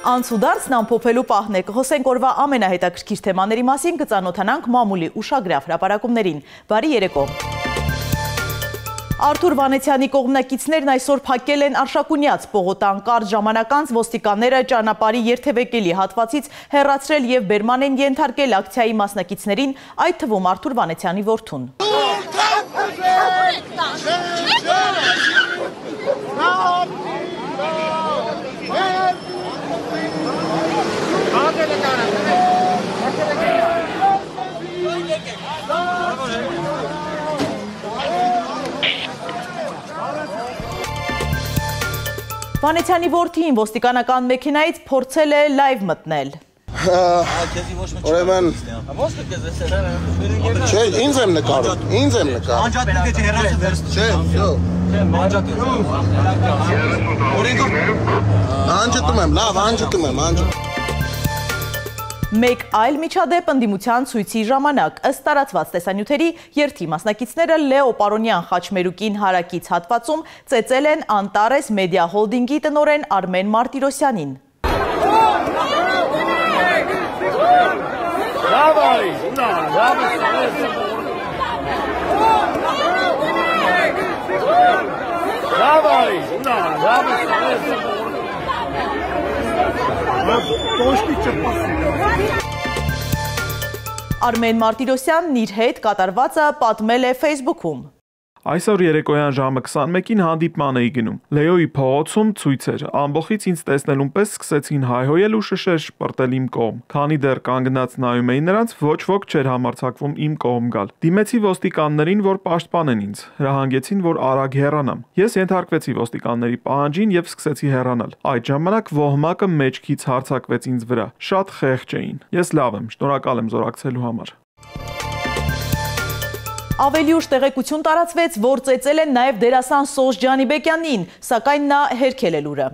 Անցուդարձն ամփոփելու պահն է, կխոսենք օրվա ամենահետաքրքիր թեմաների մասին, կծանոթանանք մամուլի ուշագրավ հրապարակումներին։ Բարի երեկո։ Արթուր Վանեցյանի կողմնակիցներն այսօր փակել են Արշակունյաց պողոտան, կարճ ժամանակ անց ոստիկանները ճանապարհի երթևեկելի հատվածից հեռացրել եւ բերման են ենթարկել ակցիայի մասնակիցներին, այդ թվում Արթուր Վանեցյանի որդուն։ Վանեցյանի որդին ոստիկանական մեքենայից փորձել է լայվ մտնել։ Ուրեմն չէ, ինձ եմ նկարում, Մեկ այլ միջադեպ ընդդիմության ցույցի ժամանակ, ըստ տարածված տեսանյութերի, երթի մասնակիցները Լեո Պարոնյան խաչմերուկին հարակից հատվածում ծեծել են Անտարես մեդիա հոլդինգի տնօրեն Արմեն Մարտիրոսյանին։ Արմեն Մարտիրոսյանն իր հետ կատարվածը պատմել է Facebook-ում։ Այսօր երեկոյան ժամը 21-ին հանդիպման էի գնում։ Լեոյի փողոցում ցույց էր։ Ամբողջից ինձ տեսնելուն պես սկսեցին հայհոյել ու շշեր շպրտել իմ կողմ։ Քանի դեռ կանգնած նայում էի նրանց, ոչ ոք չէր համարձակվում իմ կողմ գալ։ Դիմեցի ոստիկաններին, որ պաշտպանեն ինձ։ Հրահանգեցին, որ արագ հեռանամ։ Ես ենթարկվեցի ոստիկանների պահանջին եւ սկսեցի հեռանալ։ Այդ ժամանակ ոհմակը մեջքից հարձակվեց ինձ վրա։ Շատ խեղճ էին։ Ես լավ եմ, շնորհակալ եմ զորակցելու համար։ Ավելի ուշ տեղեկություն տարածվեց, որ ծեծել են նաև դերասան Սոս Ջանիբեկյանին, սակայն նա հերքել է լուրը։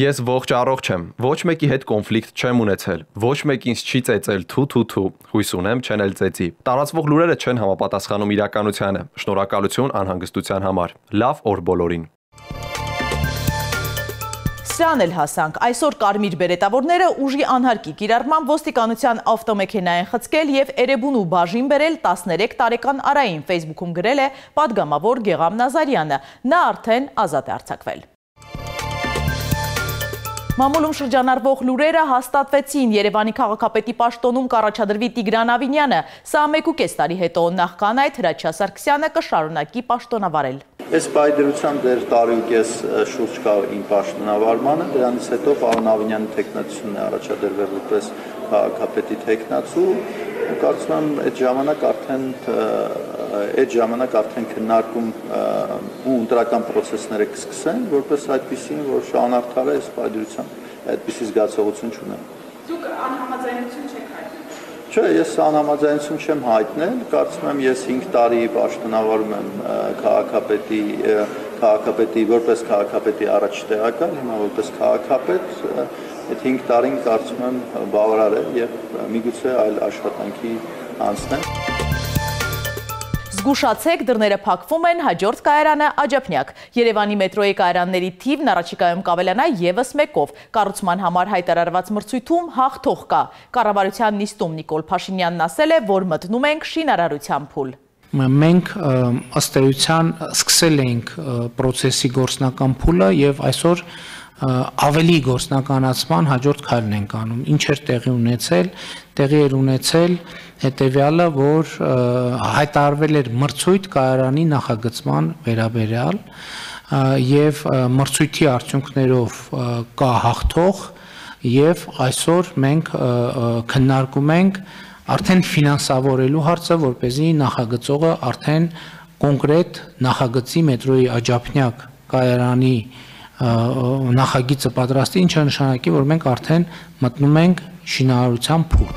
Ես ողջ առողջ եմ, ոչ մեկի հետ կոնֆլիկտ չեմ ունեցել, ոչ մեկ ինձ չի ծեծել թու, հույս ունեմ չեն էլ ծեծի։ Տարածվող լուրերը չեն համապատասխանում իրականությանը, շնորհակալություն անհանգստության համար, լավ օր բոլորին։ Սրան էլ հասանք, այսօր կարմիր բերետավորները ուժի անհարկի կիրառմամբ ոստիկանության ավտոմեքենա են խցկել և Էրեբունու բաժին բերել 13 տարեկան Արային, Facebook-ում գրել է պատգամավոր Գեղամ Նազարյանը, նա արդեն ազատ է արձակվել։ Մամուլում շրջանառվող լուրերը հաստատվեցին, Երևանի քաղաքապետի պաշտոնում կառաջադրվի Տիգրան Ավինյանը, սա 1.5 տարի հետո, նախքան այդ Հրաչյա Սարգսյանը կշարունակի պաշտոնավարել։ Ես պայդրությամբ դեր տարուկես շուրջ կա իմ պաշտոնավարմանը, դրանից հետո պարոն Ավինյանի թեկնածությունն է առաջադրվել որպես քաղաքապետի թեկնածու, կարծում եմ այդ ժամանակ արդեն քննարկում ու ընտրական պրոցեսները կսկսեն, որպես այդպիսին, որ շահանարդարը ես պայդրությամբ այդպիսի զգացողություն չունեմ։ Դուք անհամաձայնություն չեք հայտնել։ Չէ, ես անհամաձայնություն չեմ հայտնել, կարծում եմ ես 5 տարի պաշտոնավարում եմ քաղաքապետի որպես քաղաքապետի առաջ տեղակալ, հիմա որպես քաղաքապետ, այդ 5 տարին կարծում եմ բավարար է եւ միգուցե այլ աշխատանքի անցնեմ։ Զգուշացեք, դռները փակվում են, հաջորդ կայարանը Աջափնյակ։ Երևանի մետրոյի կայարանների թիվն առաջիկայում կավելանա ևս մեկով։ Կառուցման համար հայտարարված մրցույթում հաղթող կա։ Կառավարության նիստում Նիկոլ Փաշինյանն ասել է, որ մտնում ենք շինարարության փուլ։ Մենք ըստ էության սկսել էինք պրոցեսի գործնական փուլը եւ այսօր ավելի գործնականացման հաջորդ քայլն ենք անում։ Ինչ էր տեղի էր ունեցել հետևյալը, որ հայտարարվել էր մրցույթ կայարանի նախագծման վերաբերյալ եւ մրցույթի արդյունքներով կա հաղթող եւ այսօր մենք քննարկում ենք արդեն ֆինանսավորելու հարցը, որպեսզի նախագծողը արդեն կոնկրետ նախագծի մետրոյի Աջափնյակ կայարանի նախագիծը պատրաստի, ինչը նշանակի, որ մենք արդեն մտնում ենք շինարարության փուլ։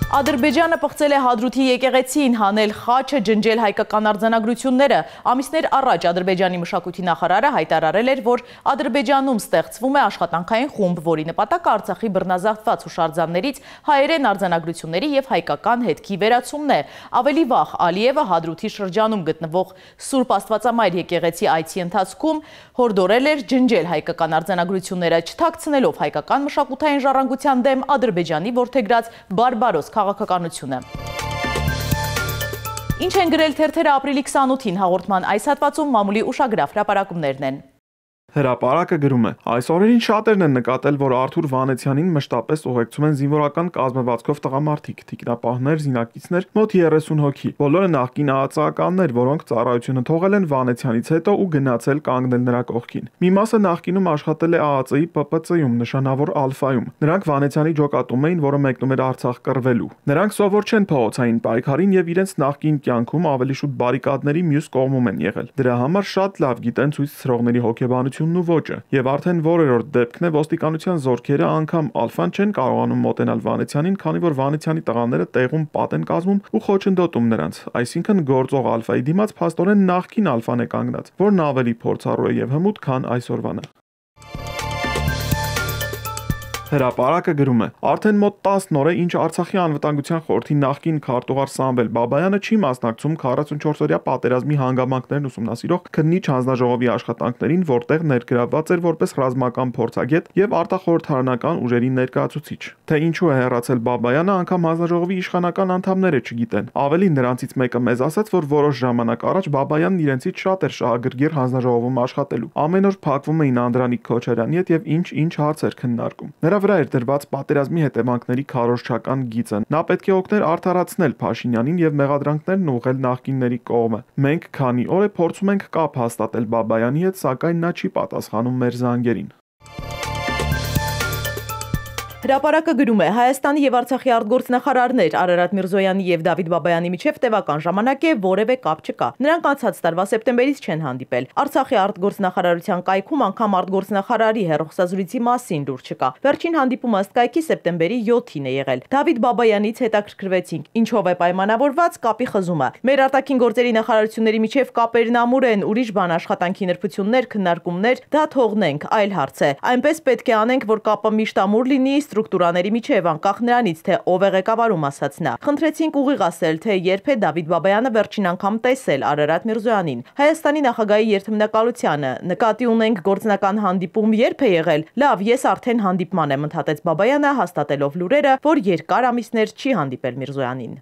Ադրբեջանը պղծել է Հադրութի եկեղեցին հանել խաչը, ջնջել հայկական արձանագրությունները։ Ամիսներ առաջ Ադրբեջանի մշակույթի նախարարը հայտարարել էր, որ Ադրբեջանում ստեղծվում է աշխատանքային խումբ, որի նպատակը Արցախի բռնազավթված հուշարձաններից հայերեն արձանագրությունների եւ հայկական հետքի վերացումն է։ Ավելի վաղ Ալիևը Հադրութի շրջանում գտնվող Սուրբ Աստվածամայր եկեղեցի այցի ընթացքում հորդորել էր ջնջել հայկական արձանագրությունները, չթաքցնելով հայկական մշակութային ժառանգության դեմ Ադրբեջանի որդեգրած բարբարոս քաղաքականությունը։ Ինչ են գրել թերթերը ապրիլի 28-ին հաղորդման այս հատվածում մամուլի ուշագրավ հրապարակումներն են։ Հրապարակը գրում է. այս օրերին շատերն են նկատել, որ Արթուր Վանեցյանին մշտապես ուղեկցում են զինվորական կազմվածքով տղամարդիկ, թիկնապահներ, զինակիցներ, մոտ 30 հոգի։ Բոլորը նախկին ԱԱԾ-ականներ, որոնք ծառայությունը թողել են Վանեցյանից հետո ու գնացել կանգնել նրա կողքին։ Մի մասը նախկինում աշխատել է ԱԱԾ-ի ՊՊՑ-ում, նշանավոր Ալֆայում։ Նրանք Վանեցյանի ջոկատում էին, որը մեկնում էր Արցախ կռվելու։ Նրանք սովոր չեն փողոցային պայքարին եւ իրենց նախկին կյանքում ավելի շուտ բարիկադների մյուս կողմում են եղել։ Դրա համար շատ լավ գիտեն ցույց ցրողների հոգեբանությունը ու ոճը, եւ արդեն որերորդ դեպքն է ոստիկանության զորքերը անգամ Ալֆան չեն կարողանում մոտենալ Վանեցյանին, քանի որ Վանեցյանի տղաները տեղում պատ են կազմում ու խոչընդոտում նրանց, այսինքն գործող Ալֆայի դիմաց փաստորեն նախկին Ալֆան է կանգնած, որն ավելի փորձառու է եւ հմուտ, քան այսօրվանը։ Հրապարակը գրում է. արդեն մոտ 10 օր է, ինչ Արցախի անվտանգության խորհրդի նախկին քարտուղար Սամվել Բաբայանը չի մասնակցում 44-օրյա պատերազմի հանգամանքներն ուսումնասիրող քննիչ հանձնաժողովի աշխատանքներին, որտեղ ներգրավված էր որպես ռազմական փորձագետ եւ արտախորհրդարանական ուժերի ներկայացուցիչ։ Թե ինչու է հեռացել Բաբայանը, անգամ հանձնաժողովի իշխանական անդամները չգիտեն։ Ավելի նրանցից մեկը մեզ ասաց, որ որոշ ժամանակ առաջ Բաբայանն իրենցից շատ էր շահագրգիռ հանձնաժողովում աշխատելու։ Ամեն օր փակվում էին Անդրանիկ Քոչարյանի հետ եւ ինչ հարցեր քննարկում։ Նրա վրա էր դրված պատերազմի հետևանքների քարոզչական գիծը։ Նա պետք է օգներ արդարացնել Փաշինյանին եւ մեղադրանքներն ուղղել նախկինների կողմը։ Մենք քանի օր է փորձում ենք կապ հաստատել Բաբայանի հետ, սակայն նա չի պատասխանում մեր զանգերին։ Հրապարակը գրում է. Հայաստանի եւ Արցախի արտգործնախարարներ Արարատ Միրզոյանի եւ Դավիթ Բաբայանի միջև տևական ժամանակ է որևէ կապ չկա։ Նրանք անցած տարվա սեպտեմբերից չեն հանդիպել։ Արցախի արտգործնախարարության կայքում անգամ արտգործնախարարի հեռախոսազրույցի մասին լուր չկա։ Վերջին հանդիպումը ըստ կայքի սեպտեմբերի 7-ին է եղել։ Դավիթ Բաբայանից հետաքրքրվեցինք, ինչով է պայմանավորված կապի խզումը։ Մեր արտաքին գործերի նախարարությունների միջև կապերն ամուր են, ուրիշ բան աշխատանքի ներբություններ, քննարկումներ, դա թողնենք, այլ հարց է։ Այնպես պետք է անենք, որ կապը միշտ ամուր լինի ստրուկտուրաների միջև, անկախ նրանից, թե ով է ղեկավարում, ասաց նա։ Խնդրեցինք ուղիղ ասել, թե երբ է Դավիթ Բաբայանը վերջին անգամ տեսել Արարատ Միրզոյանին։ Հայաստանի նախագահի երթմնակալությանը նկատի ունենք գործնական հանդիպում երբ է եղել։ Լավ, ես արդեն հանդիպման եմ, ընդհատեց Բաբայանը, հաստատելով լուրերը, որ երկար ամիսներ չի հանդիպել Միրզոյանին։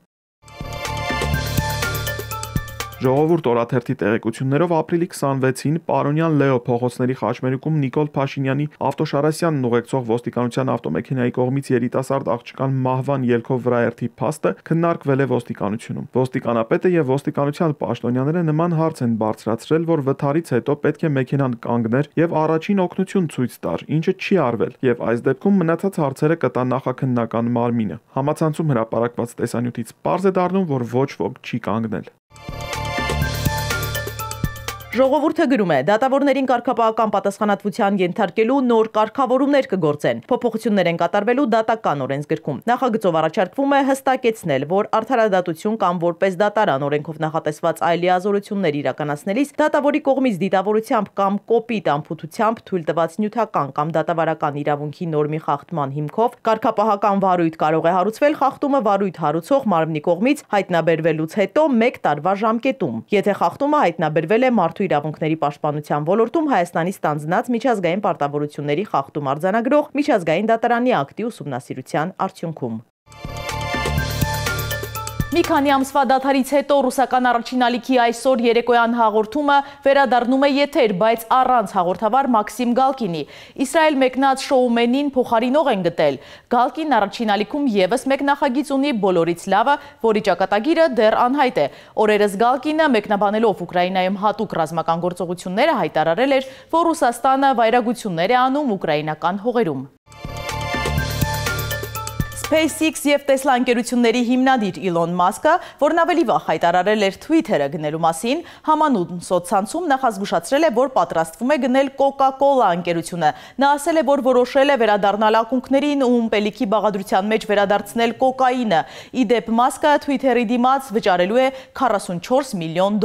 Ժողովուրդ օրաթերթի տեղեկություններով ապրիլի 26-ին Պարոնյան Լեո փողոցների խաչմերուկում Նիկոլ Փաշինյանի Ավտոշարասյանն ուղեկցող ոստիկանության ավտոմեքենայի կողմից երիտասարդ աղջկան մահվան ելքով վրաերթի փաստը քննարկվել է ոստիկանությունում։ Ոստիկանապետը եւ ոստիկանության պաշտոնյաները նման հարց են բարձրացրել, որ վթարից հետո պետք է մեքենան կանգներ եւ առաջին օգնություն ցույց տար, ինչը չի արվել, եւ այս դեպքում մնացած հարցերը կտա նախաքննական մարմինը։ Համացանցում հրապարակված տեսանյութից պարզ է դառնում, որ ոչ ոք չի կանգնել։ Ժողովուրդը գրում է. դատավորներին կարգապահական պատասխանատվության ենթարկելու նոր կարգավորումներ կգործեն։ Փոփոխություններ են կատարվելու դատական օրենսգրքում։ Նախագծով առաջարկվում է հստակեցնել, որ արդարադատություն կամ որպես դատարան օրենքով նախատեսված այլ լիազորություններ իրականացնելիս դատավորի կողմից դիտավորությամբ կամ կոպիտ անփութությամբ թույլ տված նյութական կամ դատավարական իրավունքի նորմի խախտման հիմքով կարգապահական վարույթ կարող է հարուցվել խախտումը վարույթ հարուցող մարմնի կողմից հայտնաբերվելուց հետո 1 տարվա ժամկետում, եթե խախտումը հայտնաբերվել է մարդու իրավունքների պաշտպանության ոլորտում Հայաստանի ստանձնած միջազգային պարտավորությունների խախտում արձանագրող միջազգային դատարանի ակտի ուսումնասիրության արդյունքում։ Մի քանի ամսվա դադարից հետո ռուսական առաջին ալիքի այսօր երեկոյան հաղորդումը վերադառնում է եթեր, բայց առանց հաղորդավար Մաքսիմ Գալկինի։ Իսրայել մեկնած շոումենին փոխարինող են գտել։ Գալկին առաջին ալիքում եւս մեկ նախագիծ ունի բոլորից լավը, որի ճակատագիրը դեռ անհայտ է։ Օրերս Գալկինը մեկնաբանելով Ուկրաինայում հատուկ ռազմական գործողությունները հայտարարել էր, որ Ռուսաստանը վայրագություններ է անում ուկրաինական հողերում։ SpaceX և Tesla ընկերությունների հիմնադիր Իլոն Մասկը, որն ավելի վաղ հայտարարել էր Twitter-ը գնելու մասին, համանուն սոցցանցում նախազգուշացրել է, որ պատրաստվում է գնել Coca-Cola ընկերությունը։ Նա ասել է, որ որոշել է վերադառնալ ակունքներին ու ըմպելիքի բաղադրության մեջ վերադարձնել կոկաինը։ Ի դեպ Մասկը Twitter-ի դիմաց վճարելու է $44 միլիոն։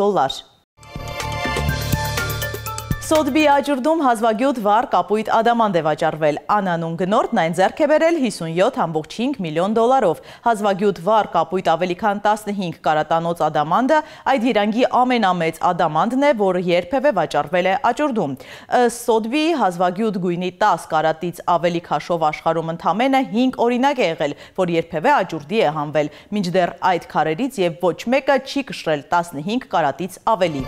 Սոդբի աջուրդում հազվագյուտ վառ կապույտ ադամանդ է վաճառվել։ Անանուն գնորդն այն ձեռք է բերել $57.5 միլիոն։ Հազվագյուտ վառ կապույտ ավելի քան 15 կարատանոց ադամանդը այդ երանգի ամենամեծ ադամանդն է, որը երբևէ վաճառվել է աջուրդում։ Ըստ Սոդբի հազվագյուտ գույնի 10 կարատից ավելի քաշով աշխարհում ընդամենը 5 օրինակ է եղել, որ երբևէ աջուրդի է հանվել, մինչդեռ այդ քարերից եւ ոչ մեկը չի կշռել 15 կարատից ավելի։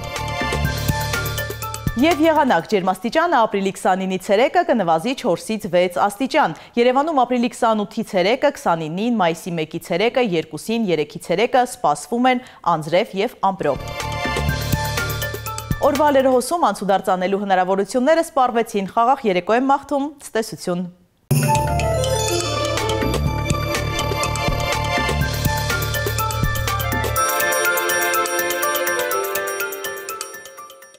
Եվ եղանակ ջերմաստիճանը ապրիլի 29-ի ցերեկը կնվազի 4-ից 6 աստիճան։ Երևանում ապրիլի 28-ի ցերեկը, 29-ին, մայիսի 1-ի ցերեկը, 2-ին, 3-ի ցերեկը սպասվում են անձրև եւ ամպրոպ։ Օրվա լրահոսում անցուդարձ անելու հնարավորությունները սպառվեցին։ Խաղաղ երեկո եմ մաղթում, ցտեսություն։